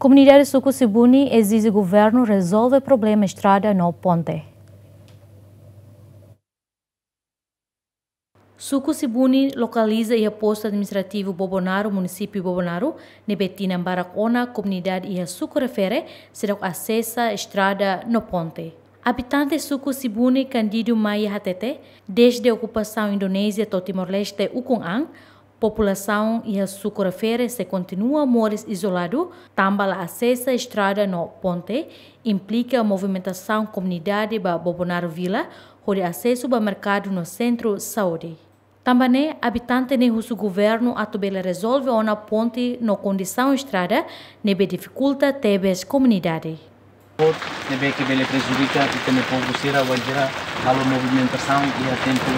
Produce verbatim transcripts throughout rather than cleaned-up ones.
Komunidade suku Sibuni ezije governu rezolve problema estrada no ponte. Suku Sibuni lokaliza iha postu administrativu Bobonaro, munisípiu Bobonaro, ne'ebé tinan barak ona komunidade iha suku refere seidauk asesa estrada no ponte. Abitante suku Sibuni Candido Maia hatete, dezde okupasaun Indonézia to'o Timor-Leste ukun an, populasaun iha suku refere sei kontinua moris izoladu, tanba la asesa estrada no ponte, implika movimentasaun komunidade ba Bobonaro Vila, hodi asesu ba merkadu no sentru saúde. Tanba ne'e, abitante ne'e husu governu atu bele rezolve ona ponte no kondisaun estrada ne'ebé difikulta tebes komunidade. Ne'ebé ke bele prejudika ita-nia povu sira wainhira halo movimentasaun iha tempu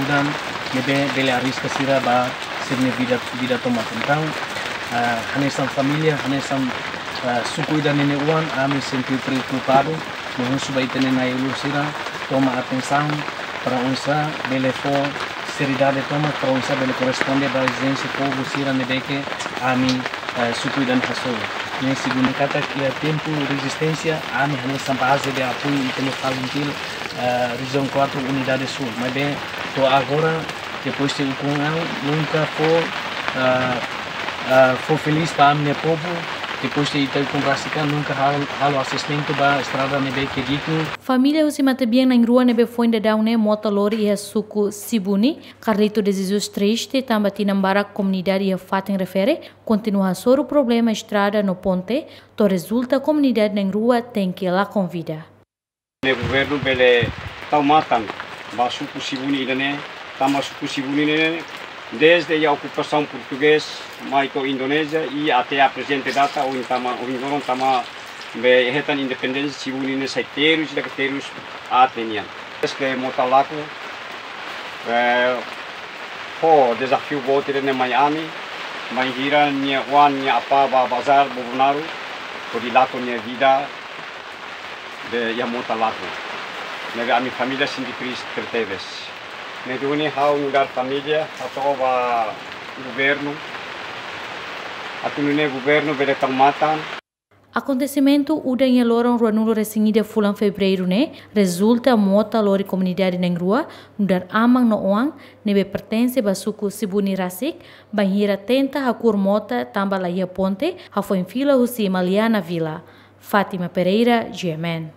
udan, ne'ebé bele arriska sira ba sira-nia vida, vida tomak. Entaun, ah, hanesan família, hanesan, ah, suku ida-ne'e nia oan, ami sente preokupadu, no husu ba ita-nia na'i-ulun sira toma atensaun para oinsá bele fó seriedade tomak, para oinsá bele korresponde ba ezijénsia povu sira ne'ebé ke ami, eh, suku ida-ne'e hasoru. Ne'e segundu katak iha tempu rezisténsia, ami hanesan baze de apoiu ita-nia FALINTIL, eh, Rejiaun kuatru Unidade Súl. Maibé to'o agora, depois de ukun an, nunka fó, eh, eh, fó felís ba ami-nia povu, depois de ita ukun rasik an, nunka hal-, halo asesmentu ba estrada ne'ebé ke dignu. Família husi matebian na'in-rua ne'ebé foin daudaun ne'e mota lori iha suku Sibuni, Carlito de Jesus triste tanba tinan barak komunidade iha fatin refere kontinua hasoru problema estrada no ponte, to'o rezulta komunidade na'in-rua tenke lakon vida. Ne'e governu bele tau matan ba suku Sibuni ida-ne'e, tanba suku Sibuni ne'e dezde iha okupasaun portugés mai to'o Indonézia i até a prezente data, ohin tama, ohin loron tama be hetan independénsia, Sibuni ne'e sai terus, ida ke terus aat nian. Depois ke mota lakon, eh, fó dezafiu boot ida-ne'e mai ami, bainhira nia oan nia apá bá bazár Bobonaro, hodi lakon nia vida, be iha mota lakon. Ne'ebé ami família sente triste tebetebes. Ne'e duni ha'u nu'udar família hato'o ba governu, atu nune'e governu bele tau matan. Akontesimentu udan iha loron ruanulu-resin-ida fulan Fevereiru ne'e rezulta mota lori komunidade na'in-rua, nu'udar aman no oan, ne'ebé pertense ba suku Sibuni rasik, bainhira tenta hakur mota tanba la iha ponte, hafoin fila husi Maliana Vila. Fátima Pereira, G M N.